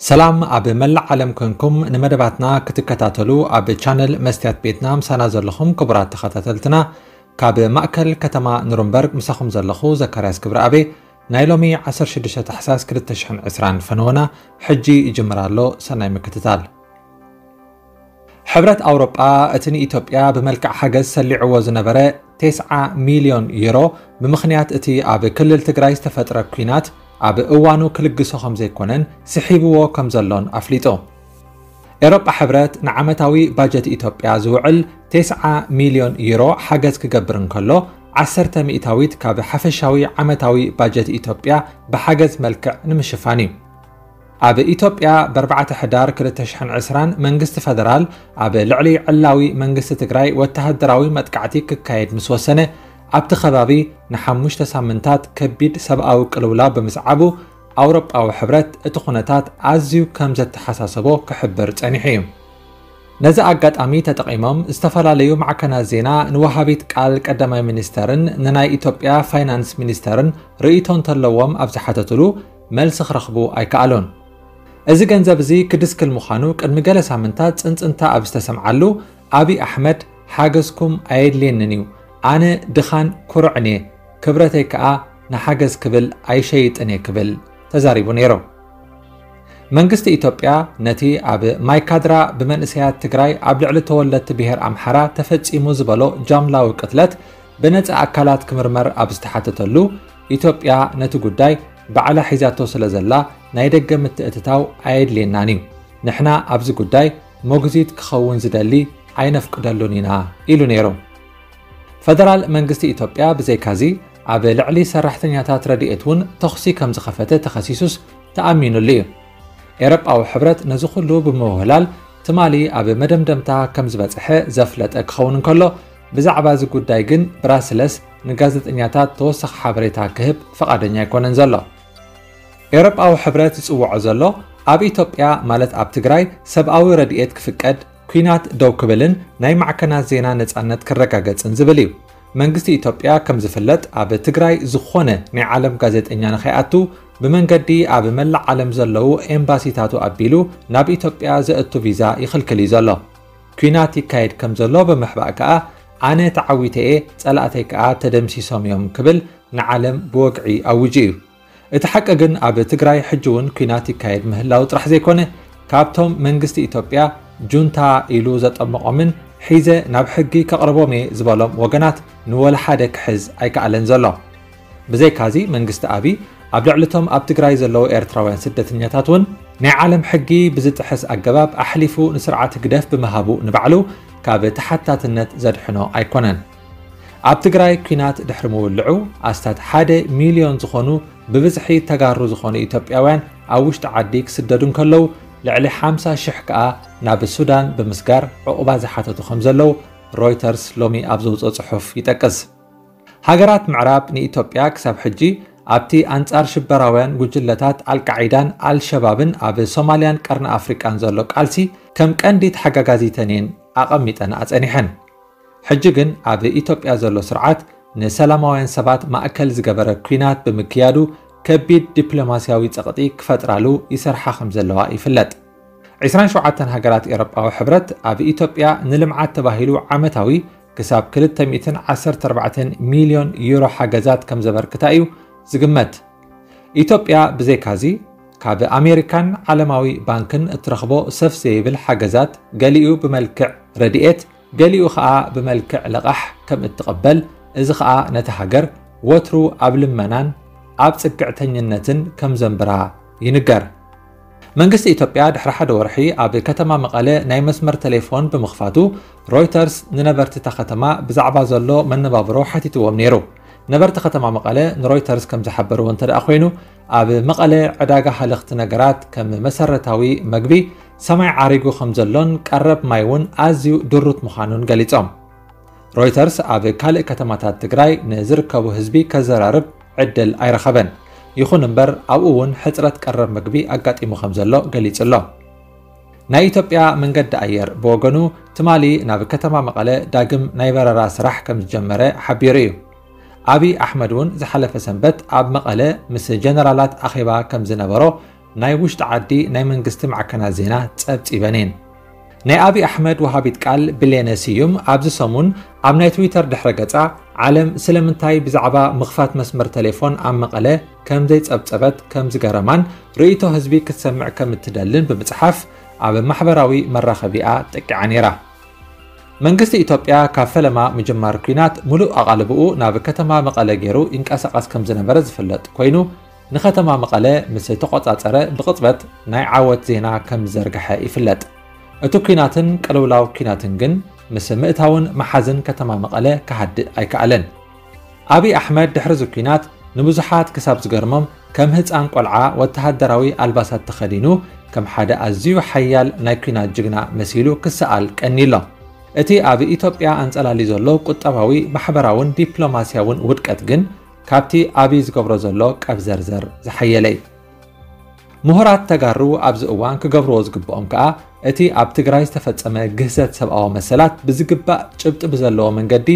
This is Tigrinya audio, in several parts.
ሰላም ኣብ መላእ ዓለም ኮንኩም ንመደባትና ክትከታተሉ ኣብ ቻነል መስትያት ቤትና ምሳና ዘለኹም ክቡራት ተኸታተልትና፣ ካብ ማእከል ከተማ ኑርንበርግ ምሳኹም ዘለኹ ዘካርያስ ክብረኣቤ። ናይ ሎሚ ዓሰርተ ሽዱሽተ ታሕሳስ ክልተ ሽሕን ዕስራን ፈነወና ሕጂ ይጅምር ኣሎ። ሰናይ ምክትታል። ሕብረት ኣውሮጳ እቲ ንኢትዮጵያ ብመልክዕ ሓገዝ ሰሊዕዎ ዝነበረ ተስዓ ሚልዮን ዩሮ፣ ብምኽንያት እቲ ኣብ ክልል ትግራይ ዝተፈጥረ ኲናት ኣብ እዋኑ ክልግሶ ከም ዘይኮነን ስሒብዎ ከም ዘሎን ኣፍሊጡ። ኤውሮጳ ሕብረት ንዓመታዊ ባጀት ኢትዮጵያ ዝውዕል ተስዓ ሚልዮን ዩሮ ሓገዝ ክገብር እንከሎ፣ ዓሰርተ ሚእታዊት ካብ ሓፈሻዊ ዓመታዊ ባጀት ኢትዮጵያ ብሓገዝ መልክዕ ንምሽፋን እዩ። ኣብ ኢትዮጵያ ብ ኣርባዕተ ሕዳር ክልተ ሽሕን ዕስራን መንግስቲ ፈደራል ኣብ ልዕሊ ዕላዊ መንግስቲ ትግራይ ወተሃደራዊ መጥቃዕቲ ክካየድ ምስ ወሰነ፣ ኣብቲ ከባቢ ንሓሙሽተ ሳምንታት ከቢድ ሰብኣዊ ቅልውላው ብምስዓቡ፣ ኣውሮጳዊ ሕብረት እቲ ኩነታት ኣዝዩ ከም ዘተሓሳሰቦ ክሕብር ጸኒሑ እዩ። ነዚ ኣጋጣሚ ተጠቒሞም ዝተፈላለዩ ማዕከናት ዜና ንወሃቢት ቃል ቀዳማይ ሚኒስተርን ንናይ ኢትዮጵያ ፋይናንስ ሚኒስተርን ርእይቶ እንተለዎም ኣብ ዝሓተትሉ፣ መልሲ ክረኽቡ ኣይከኣሉን። እዚ ገንዘብ እዚ ክድስክል ምዃኑ ቅድሚ ገለ ሳምንታት ጽንጽንታ ኣብ ዝተሰምዓሉ፣ ኣብይ ኣሕመድ፣ ሓገዝኩም ኣየድልየንን እዩ፣ ኣነ ድኻን ኩርዕን እየ፣ ክብረተይ ከኣ ንሓገዝ ክብል ኣይሸይጥን እየ ክብል ተዛሪቡ ነይሩ። መንግስቲ ኢትዮጵያ ነቲ ኣብ ማይካድራ ብመንእሰያት ትግራይ ኣብ ልዕሊ ተወለድቲ ብሄር ኣምሓራ ተፈጺሙ ዝበሎ ጃምላዊ ቅትለት ብነጻ ኣካላት ክምርመር ኣብ ዝተሓተተሉ፣ ኢትዮጵያ ነቲ ጉዳይ ባዕላ ሒዛቶ ስለ ዘላ ናይ ደገ ምትእትታው ኣየድልየናን እዩ። ንሕና ኣብዚ ጉዳይ ሞግዚት ክኸውን ዝደሊ ኣይነፍቅደሉን ኢና ኢሉ ነይሩ። ፈደራል መንግስቲ ኢትዮጵያ ብዘይካዚ ኣብ ልዕሊ ሰራሕተኛታት ረድኤት እውን ተኹሲ ከም ዝኸፈተ ተኸሲሱስ ተኣሚኑሉ እዩ። ኤውሮጳዊ ሕብረት ነዚ ኩሉ ብምውህላል ትማሊ ኣብ መደምደምታ ከም ዝበጽሐ ዘፍለጠ ክኸውን እንከሎ፣ ብዛዕባ እዚ ጉዳይ ግን ብራስለስ ንጋዜጠኛታት ተወሳኺ ሓበሬታ ክህብ ፈቓደኛ ኣይኮነን ዘሎ። ኤውሮጳዊ ሕብረት ዝጽውዖ ዘሎ ኣብ ኢትዮጵያ ማለት ኣብ ትግራይ ሰብኣዊ ረድኤት ክፍቀድ፣ ኲናት ደው ክብልን ናይ ማዕከናት ዜና ነጻነት ክረጋገጽን ዝብል እዩ። መንግስቲ ኢትዮጵያ ከም ዝፍለጥ ኣብ ትግራይ ዝኾነ ናይ ዓለም ጋዜጠኛ ንኸይኣቱ ብመንገዲ ኣብ መላእ ዓለም ዘለዉ ኤምባሲታቱ ኣቢሉ ናብ ኢትዮጵያ ዘእቱ ቪዛ ይኽልክል እዩ ዘሎ። ኲናት ይካየድ ከም ዘሎ ብምሕባእ ከኣ ኣነ ተዓዊተ እየ፣ ጸላእተይ ከኣ ተደምሲሶም እዮም ክብል ንዓለም ብወግዒ ኣውጁ እዩ። እቲ ሓቂ ግን ኣብ ትግራይ ሕጂ እውን ኲናት ይካየድ ምህላው ጥራሕ ዘይኮነ፣ ካብቶም መንግስቲ ኢትዮጵያ ጁንታ ኢሉ ዘጠመቖምን ሒዘ ናብ ሕጊ ከቕርቦም እየ ዝበሎም ወገናት ንወላ ሓደ ክሕዝ ኣይከኣለን ዘሎ። ብዘይካዚ መንግስቲ ኣብይ ኣብ ልዕሊ እቶም ኣብ ትግራይ ዘለዉ ኤርትራውያን ስደተኛታት እውን ናይ ዓለም ሕጊ ብዝጥሕስ ኣገባብ ኣሕሊፉ ንስርዓት ህግደፍ ብምሃቡ ንባዕሉ ካብ ተሓታትነት ዘድሕኖ ኣይኮነን። ኣብ ትግራይ ኲናት ድሕሪ ምውልዑ ኣስታት ሓደ ሚልዮን ዝኾኑ ብብዝሒ ተጋሩ ዝኾኑ ኢትዮጵያውያን ኣብ ውሽጢ ዓዲ ክስደዱ እንከለዉ፣ ልዕሊ ሓምሳ ሽሕ ከኣ ናብ ሱዳን ብምስጋር ዕቑባ ዝሓተቱ ከም ዘለዉ ሮይተርስ ሎሚ ኣብ ዘውፅኦ ጽሑፍ ይጠቅስ። ሃገራት ምዕራብ ንኢትዮጵያ ክሳብ ሕጂ ኣብቲ ኣንጻር ሽበራውያን ጉጅለታት ኣልቃዒዳን ኣልሸባብን ኣብ ሶማልያን ቀርኒ ኣፍሪቃን ዘሎ ቃልሲ ከም ቀንዲ ተሓጋጋዚተን እየን ኣቐሚጠን ኣጸኒሐን። ሕጂ ግን ኣብ ኢትዮጵያ ዘሎ ስርዓት ንሰላማውያን ሰባት ማእከል ዝገበረ ኲናት ብምክያዱ ከቢድ ዲፕሎማስያዊ ጸቕጢ ክፈጥራሉ ይሰርሓ ከም ዘለዋ ይፍለጥ። ዕስራን ሸውዓተን ሃገራት ኤውሮጳዊ ሕብረት ኣብ ኢትዮጵያ ንልምዓት ተባሂሉ ዓመታዊ ክሳብ ክልተ ሚእትን ዓሰርተ ኣርባዕተን ሚልዮን ዩሮ ሓገዛት ከም ዘበርክታ እዩ ዝግመት። ኢትዮጵያ ብዘይካዚ ካብ ኣሜሪካን ዓለማዊ ባንክን እትረኽቦ ሰፍ ዘይብል ሓገዛት ገሊኡ ብመልክዕ ረድኤት፣ ገሊኡ ኸኣ ብመልክዕ ልቓሕ ከም እትቕበል፣ እዚ ኸኣ ነታ ሃገር ወትሩ ኣብ ልመናን ኣብ ጽግዕተኝነትን ከም ዘንብራ ይንገር። መንግስቲ ኢትዮጵያ ድሕሪ ሓደ ወርሒ ኣብ ከተማ መቐለ ናይ መስመር ቴሌፎን ብምኽፋቱ፣ ሮይተርስ ንነበርቲ እታ ከተማ ብዛዕባ ዘሎ መነባብሮ ሓቲትዎም ነይሩ። ነበርቲ ከተማ መቐለ ንሮይተርስ ከም ዝሓበርዎ እንተ ደኣ ኮይኑ፣ ኣብ መቐለ ዕዳጋ ሃለኽቲ ነገራት ከም መሰረታዊ መግቢ ሰማይ ዓሪጉ ከም ዘሎን ቀረብ ማይ እውን ኣዝዩ ድሩት ምዃኑን ገሊጾም። ሮይተርስ ኣብ ካልእ ከተማታት ትግራይ ንዝርከቡ ህዝቢ ከዘራርብ ዕድል ኣይረኸበን። ይኹን እምበር ኣብኡ እውን ሕጽረት ቀረብ መግቢ ኣጋጢሙ ከም ዘሎ ገሊጹ ኣሎ። ናይ ኢትዮጵያ መንገዲ ኣየር ብወገኑ ትማሊ ናብ ከተማ መቐለ ዳግም ናይ በረራ ስራሕ ከም ዝጀመረ ሓቢሩ እዩ። ኣብይ ኣሕመድ እውን ዝሓለፈ ሰንበት ኣብ መቐለ ምስ ጀነራላት ኣኼባ ከም ዝነበሮ ናይ ውሽጢ ዓዲ ናይ መንግስቲ ማዕከናት ዜና ጸብጺበን እየን። ናይ ኣብይ ኣሕመድ ወሃቢት ቃል ብሌነ ስዩም ኣብዚ ሰሙን ኣብ ናይ ትዊተር ድሕረ ገጻ፣ ዓለም ስለምንታይ ብዛዕባ ምኽፋት መስመር ቴሌፎን ኣብ መቐለ ከም ዘይጸብጸበት ከም ዝገረማን ርእይቶ ህዝቢ ክትሰምዕ ከም እትደልን ብምጽሓፍ ኣብ ማሕበራዊ መራኸቢኣ ጠቂዓ ነይራ። መንግስቲ ኢትዮጵያ ካብ ፈለማ ምጅማር ኲናት ሙሉእ ኣቓልብኡ ናብ ከተማ መቐለ ገይሩ ይንቀሳቐስ ከም ዝነበረ ዝፍለጥ ኮይኑ፣ ንከተማ መቐለ ምስ ተቖጻጸረ ብቕጽበት ናይ ዓወት ዜና ከም ዝዘርግሐ ይፍለጥ። እቲ ኲናትን ቅልውላው ኲናትን ግን ምስ ምእታውን መሓዝን ከተማ መቐለ ክሃድእ ኣይከኣለን። ኣብይ ኣሕመድ ድሕሪ እዚ ኲናት ንብዙሓት ክሳብ ዝገርሞም ከም ህጻን ቆልዓ ወተሃደራዊ ኣልባሳት ተኸዲኑ ከም ሓደ ኣዝዩ ሓያል ናይ ኲናት ጅግና መሲሉ ክሰኣል ቀንዩ ኣሎ። እቲ ኣብ ኢትዮጵያ ኣንጸላልዩ ዘሎ ቁጠባዊ፣ ማሕበራውን ዲፕሎማስያውን ውድቀት ግን ካብቲ ኣብይ ዝገብሮ ዘሎ ቀብዘርዘር ዝሓየለ እዩ። ምሁራት ተጋሩ ኣብዚ እዋን ክገብርዎ ዝግብኦም ከኣ እቲ ኣብ ትግራይ ዝተፈጸመ ግህሰት ሰብኣዊ መሰላት ብዝግባእ ጭብጢ ብዘለዎ መንገዲ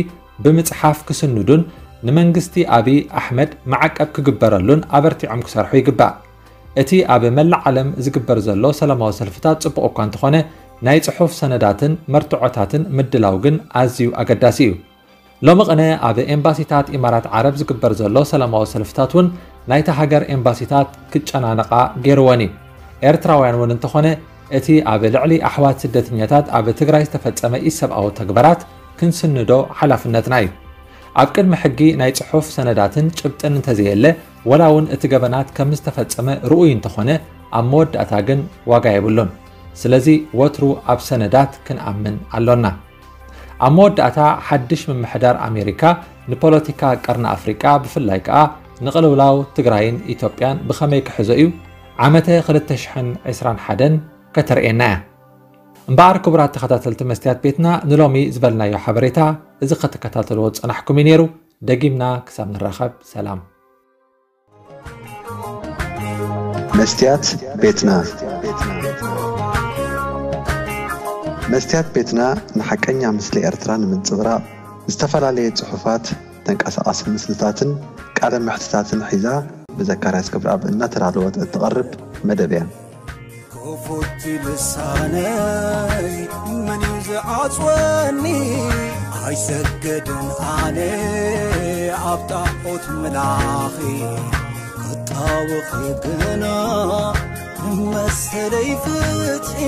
ብምጽሓፍ ክስንዱን ንመንግስቲ ኣብይ ኣሕመድ ማዕቀብ ክግበረሉን ኣበርቲዖም ክሰርሑ ይግባእ። እቲ ኣብ መላእ ዓለም ዝግበር ዘሎ ሰላማዊ ሰልፍታት ጽቡቕ እኳ እንተኾነ፣ ናይ ጽሑፍ ሰነዳትን መርትዖታትን ምድላው ግን ኣዝዩ ኣገዳሲ እዩ። ሎሚ ቅነ ኣብ ኤምባሲታት ኢማራት ዓረብ ዝግበር ዘሎ ሰላማዊ ሰልፍታት እውን ናይታ ሃገር ኤምባሲታት ክጨናነቓ ገይርወን እዩ። ኤርትራውያን እውን እንተኾነ እቲ ኣብ ልዕሊ ኣሕዋት ስደተኛታት ኣብ ትግራይ ዝተፈጸመ ኢሰብኣዊ ተግባራት ክንስንዶ ሓላፍነትና እዩ። ኣብ ቅድሚ ሕጊ ናይ ጽሑፍ ሰነዳትን ጭብጥን እንተዘየለ፣ ወላ እውን እቲ ገበናት ከም ዝተፈጸመ ርኡይ እንተኾነ፣ ኣብ መወዳእታ ግን ዋጋ የብሉን። ስለዚ ወትሩ ኣብ ሰነዳት ክንኣምን ኣሎና። ኣብ መወዳእታ ሓድሽ ምምሕዳር ኣሜሪካ ንፖለቲካ ቀርኒ ኣፍሪቃ ብፍላይ ከኣ ንቕልውላው ትግራይን ኢትዮጵያን ብኸመይ ክሕዞ እዩ? ዓመተ ክልተ ሽሕን ዕስራን ሓደን ከተርእየና እያ። እምበኣር ክቡራት ተኸታተልቲ መስትያት ቤትና ንሎሚ ዝበልናዮ ሓበሬታ እዚ ከተከታተልዎ ዝጸናሕኩም እዩ ነይሩ። ደጊምና ክሳብ ንራኸብ ሰላም። መስትያት ቤትና መስትያት ቤትና ንሓቀኛ ምስሊ ኤርትራ ንምንጽብራቕ ዝተፈላለየ ጽሑፋት፣ ተንቀሳቓሲ ምስልታትን ቃለ መሕትታትን ሒዛ ብዘካርያስ ገብረኣብ እናተዳለወት እትቐርብ መደብ እያ። ክፉት ልሳነይ መን እዩ ዝዓጽወኒ? ኣይሰገድን ኣነ ኣብ ጣዖት ምላኺ ክጣወኺ ግና መሰለይ ፍትሒ።